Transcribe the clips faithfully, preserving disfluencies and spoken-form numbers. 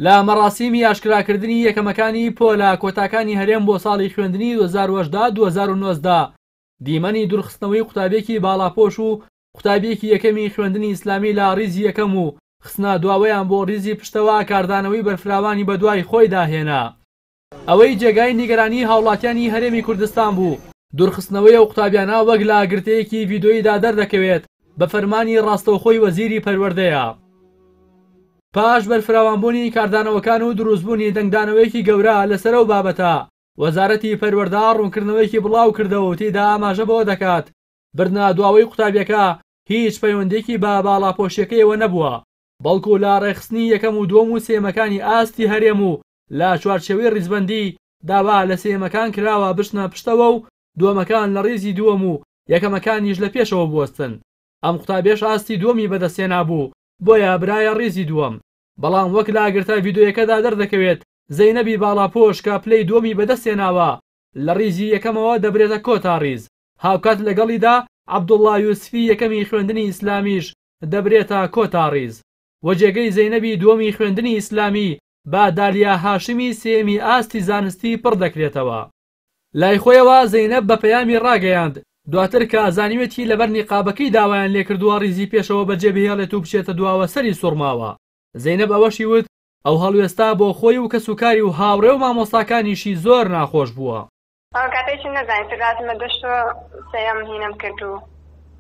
لە مەراسیمی ئاشکراکردنی یەکەمەکانی پۆلە کۆتاکانی هەرێم بۆ ساڵی خوێندنی دوو هەزار و هەژدە دوو هەزار و نۆزدە دیمەنی دوورخستنەوەی قوتابیەکی باڵاپۆش و قوتابیەکی یەکەمی خوێندنی ئیسلامی لە ڕیزی یەکەم و خستنە دواوەیان بۆ ڕیزی پشتەوە کاردانەوەی بەرفراوانی بەدوای خۆیدا هێنا. ئەوەی جێگای نیگەرانی هاوڵاتیانی هەرێمی کوردستان بوو دوورخستنەوەی ئەو قوتابیانە وەک لە گرتەیەکی ڤیدۆییدا دەردەکەوێت بە فەرمانی ڕاستەوخۆی وەزیری پەروەردەیە. پاش بەرفراوانبوونی کاردانەوەکان و دروستبوونی دەنگدانەوەیەکی گەورە لەسەر ئەو بابەتە، وەزارەتی پەروەردە ڕوونکردنەوەیەکی بڵاو کردەوە و تێیدا ئاماژە بەوە دەکات بردنە دواوەی قوتابیەکە هیچ پەیوەندیەکی بە باڵاپۆشیەکەیەوە نەبووە، بەڵکو لە ڕێکخستنی یەکەم و دووەم و سێیەمەکانی ئاستی هەرێم و لە چوارچێوەی ڕیزبەندی داوا لە سێیەمەکان کراوە بچنە پشتەوە و دووەمەکان لە ڕیزی دووەم و یەکەمەکانیش لە پێشەوە بوەستن. ئەم قوتابیەش ئاستی دووەمی بەدەستهێنا بوو، بۆیە برایە ڕیزی دووەم. بەڵام وەک لە گرتە ڤیدۆیەکەدا دەردەکەوێت زەینەبی باڵاپۆش کە پلەی دووەمی بەدەستهێناوە لە ڕیزی یەکەمەوە دەبرێتە کۆتا ڕیز، هاوکات لەگەڵیدا عەبدوڵڵا یوسفی یەکەمی خوێندنی ئیسلامیش دەبرێتە کۆتا ڕیز و جێگەی زەینەبی دووەمی خوێندنی ئیسلامی بە دالیا هاشمی سێیەمی ئاستی زانستی پڕ دەکرێتەوە. لای خۆیەوە زەینەب بە پەیامی ڕاگەیاند دواتر کە زانیوێتی لەبەر نیقابەکەی داوایان لێکردووە ڕیزی پێشەوە بەجێ بهێڵێت و بچێتە دواوە سەری سوڕماوە. زەینەب ئەوەشی وت ئەو هەڵوێستا بۆ خۆی و کەسوکاری و هاوڕێ و مامۆستاکانیشی زۆر ناخۆش بووە. ئەو کاتێکی نەزانین تر هاتمە دەشتۆ سەیەم هینەم کرد و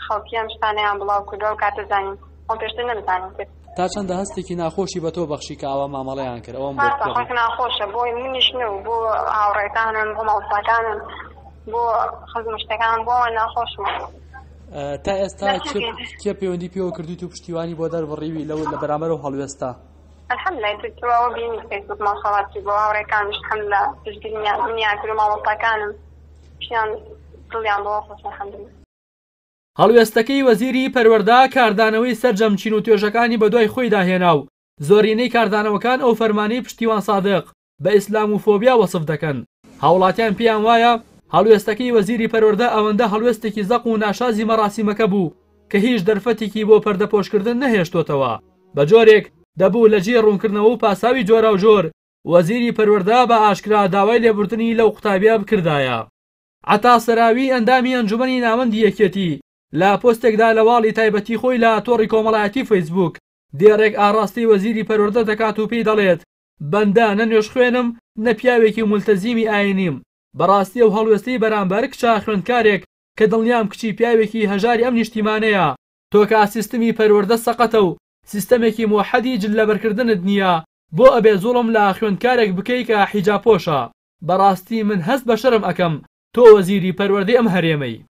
خەڵکی ئەم شتانەیان بڵاو کردو ئەو کاتە زانیم، خۆم پێشتر نەمزانین تر. تا چەندە هەستێکی ناخۆشی بە تۆ بەخشی کە ئاوا مامەڵەیان کرد؟ ئەوەم بۆ ڕاستە خۆش ناخۆشە بۆ منیش نەو، بۆ هاوڕێکانم، بۆ مامۆستاکانم، بۆ خزم شتەکانم، بۆ ئەوان ناخۆشم. تا ئێستا کێ پەیوەندی پێوە کردویت و پشتیوانی بۆ دەربڕیوی لەو لە بەرامبەر ئەو هەڵوێستە؟ الحمدلله تر تۆ ئەوە بینی فەیسبوک ماشاءالله چی بۆ هاوڕێکانیش الحمدلله پشتگیریان منیان کرد و مامۆستاکانم پشتیان دڵیان بۆ خۆش الحمدلله. هەڵوێستەکەی وەزیری پەروەردە کاردانەوەی سەرجەم چین و توێژەکانی بەدوای خۆیدا هێنا و زۆرینەی کاردانەوەکان ئەو فەرمانەی پشتیوان سادق بە ئیسلامۆفۆبیا وەسف دەکەن. هاوڵاتیان پێیان وایە هەڵوێستەکەی وەزیری پەروەردە ئەوەندە هەڵوێستێکی زەق و ناشازی مەراسیمەکە بوو کە هیچ دەرفەتێکی بۆ پەردەپۆشکردن نەهێشتۆتەوە، بە جۆرێک دەبوو لە جێی ڕوونکردنەوە و پاساوی جۆراوجۆر وەزیری پەروەردە بە ئاشکرا داوای لێبوردنی لەو قوتابیە بکردایە. عەتا سەراوی ئەندامی ئەنجومەنی ناوەندی یەکێتی لە پۆستێکدا لە واڵی تایبەتی خۆی لە تۆڕی کۆمەڵایەتی فەیسبوک دێڕێک ئاڕاستەی وەزیری پەروەردە دەکات و پێی دەڵێت بەندە نە نوێژخوێنم نە پیاوێکی مولتەزیمی ئاینیم، بەڕاستی ئەو هەڵوێستەی بەرامبەر کچە خوێندکارێک کە دڵنیام کچی پیاوێکی هەژاری ئەم نیشتیمانەیە، تۆ کە سیستمی پەروەردە سەقەتە و سیستەمێکی موحەدی جل لەبەرکردنت نییە بۆ ئەبێ زوڵم لە خوێندکارێک بکەی کە حیجابپۆشە؟ بەڕاستی من هەست بە شەرم ئەکەم تۆ وەزیری پەروەردەی ئەم هەرێمەی.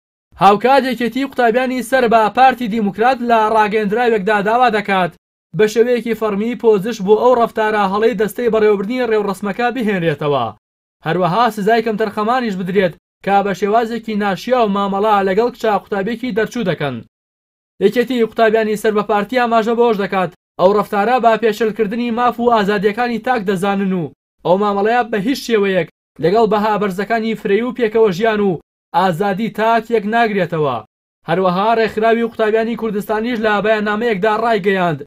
هاوکات یەکێتی قوتابیانی سەر بە پارتی دیموکرات لە ڕاگەیەندراوێکدا داوا دەکات بە شێوەیەکی فەڕمی پۆزش بۆ ئەو ڕەفتارە هەڵەی دەستەی بەڕێوەبردنی ڕێوڕەسمەکە بهێنرێتەوە، هەروەها سزای کەمتەرخەمانیش بدرێت کە بە شێوازێکی ناشیاو مامەڵە لەگەڵ کچە قوتابیەکی دەرچوو دەکەن. یەکێتی قوتابیانی سەر بە پارتی ئاماژە بەوەش دەکات ئەو ڕەفتارە بە پێشێلکردنی ماف و ئازادیەکانی تاک دەزانن و ئەو مامەڵەیە بە هیچ شێوەیەک لەگەڵ بەها بەرزەکانی فرەیی و پێکەوە ژیان و ئازادی تاک یەک ناگرێتەوە. هەروەها ڕێکخراوی قوتابیانی کوردستانیش لە بەیاننامەیەکدا ڕایگەیاند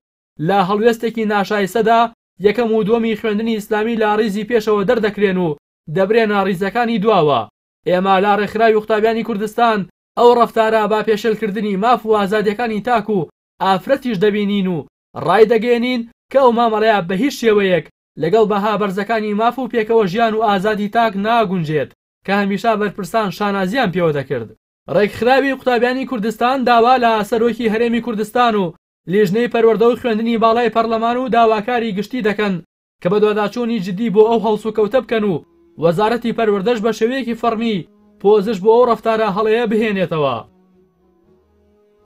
لە هەڵوێستێکی ناشایسەدا یەکەم و دووەمی خوێندنی ئیسلامی لە ڕیزی پێشەوە دەردەکرێن و دەبرێنە ڕیزەکانی دواوە. ئێمە لە ڕێکخراوی قوتابیانی کوردستان ئەو ڕەفتارە بە پێشێلکردنی ماف و ئازادیەکانی تاک و ئافرەتیش دەبینین و ڕای دەگەیەنین کە ئەو مامەڵەیە بە هیچ شێوەیەک لەگەڵ بەها بەرزەکانی ماف و پێکەوە ژیان و ئازادی تاک ناگونجێت کە هەمیشە بەرپرسان شانازیان پێوە دەکرد. ڕێکخراوی قوتابیانی کوردستان داوا لە سەرۆکی هەرێمی کوردستان و لیژنەی پەروەردە و خوێندنی باڵای پەرلەمان و داواکاری گشتی دەکەن کە بەدواداچوونی جدی بۆ ئەو هەڵسوکەوتە بکەن و وەزارەتی پەروەردەش بە شێوەیەکی فەڕمی پۆزش بۆ ئەو ڕەفتارە هەڵەیە بهێنێتەوە.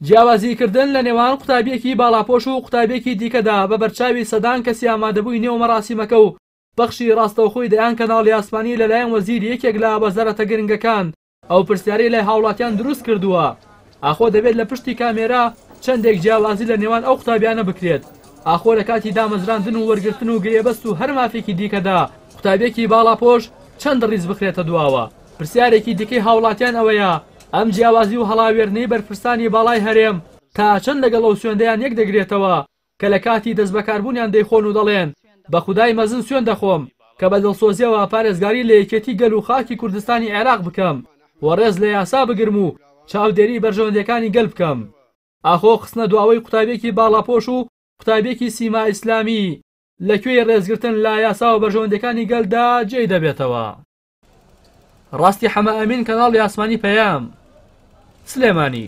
جیاوازیکردن لە نێوان قوتابیەکی باڵاپۆش و قوتابیەکی دیکەدا بە بەرچاوی سەدان کەسی ئامادەبووی نێو مەراسیمەکە و پەخشی ڕاستەوخۆی دەیان کەناڵی ئاسمانی لەلایەن وەزیری یەکێک لە وەزارەتە گرنگەکان ئەو پرسیارەی لای هاوڵاتیان دروست کردووە، ئاخۆ دەبێت لە پشتی کامێرا چەندێک جیاوازی لە نێوان ئەو قوتابیانە بکرێت؟ ئاخۆ لە کاتی دامەزراندن و وەرگرتن و گرێبەست و هەر مافێکی دیکەدا قوتابیەکی باڵاپۆش چەند ڕیز بخرێتە دواوە؟ پرسیارێکی دیکەی هاوڵاتیان ئەوەیە ئەم جیاوازی و هەڵاوێردنەی بەرپرسانی باڵای هەرێم تا چەند لەگەڵ ئەو سوێندەیان یەک دەگرێتەوە کە لە کاتی دەستبەکاربوونیان دەیخۆن و دەڵێن بە خودای مەزن سوێن دەخۆم کە بە دڵسۆزیەوە پارێزگاری لە یەکێتی گەل و خاکی کوردستانی عێراق بکەم و ڕێز لە یاسا بگرم و چاودێری بەرژەوەندیەکانی گەل بکەم. ئاخۆ خستنە دواوەی قوتابیەکی باڵاپۆش و قوتابیەکی سیما ئیسلامی لەکوێی ڕێزگرتن لە یاسا و بەرژەوەندیەکانی گەلدا جێی دەبێتەوە؟ ڕاستی حەمە ئەمین، کەناڵی ئاسمانی پەیام، سلێمانی.